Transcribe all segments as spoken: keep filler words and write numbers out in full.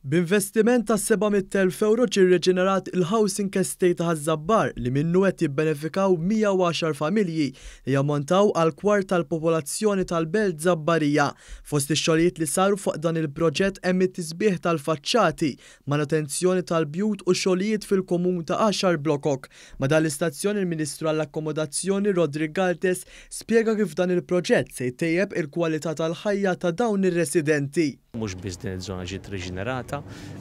B'investiment ta' seba' mitt elf ewro ġie rriġenerat il-Housing Estate ta' Ħaż-Żabbar li minnu qed jibbenefikaw mija u għaxar familji li jammontaw għal kwart tal-popolazzjoni tal-Belt Żabbarija. Fost ix-xogħlijiet li saru fuq dan il-proġett hemm it-tisbieħ tal-faċċati, manutenzjoni tal-bjut u xogħlijiet fil-komun ta' għaxar blokok. Ma' dan l-istazzjon il-Ministru għall-Akkomodazzjoni Roderick Galdes spjega kif dan il-proġett se jtejjeb il-kwalità tal-ħajja ta' dawn ir-residenti. Mhux biss din iż-żona ġiet riġenerata,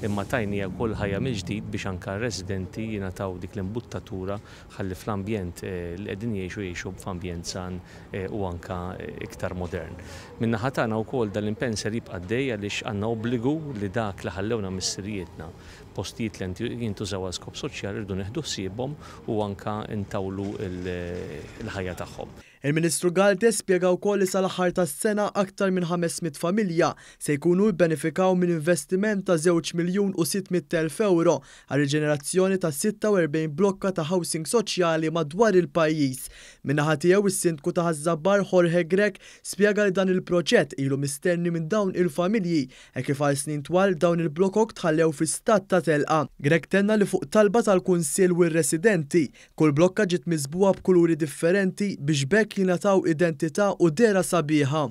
imma tajnija wkoll ħajja mill-ġdid biex anke r-residenti jingħataw dik l-imbuttatura ħalli fl-ambjent, eh, li qegħdin jgħixu jgħixu f'ambjent san, eh, u anke iktar modern. Min-naħa tagħna wkoll dan l-impenn ser jibqa' għaddej għaliex għandna obbligu li dak li ħallewna missirijietna, postijiet li jintużaw għal skop soċjali rridu neħdu ħsiebhom u anke ntawlu l-ħajja tagħhom. Il-Ministru Galdes spjega wkoll li sal-aħħar tas-sena aktar minn ħames mitt familja se jkunu jbenefikaw minn investiment ta' żewġ miljun u sitt mitt elf euro għal riġenerazzjoni ta' sitta u erbgħin blokka ta' housing soċjali madwar il-pajjiż. Min-naħa tiegħu is-Sindku ta' Ħaż-Żabbar Jorge Grech spjega li dan il-proġett ilu mistenni minn dawn il-familji e kif għal snin twal dawn il-blokok tħallew fi stat ta' telqa. Grech tenna li fuq talba tal-Kunsill u r-residenti, kull blokka ġiet miżbugħa b'kuluri differenti biex b'hekk jingħataw identità u dehra sabiħa.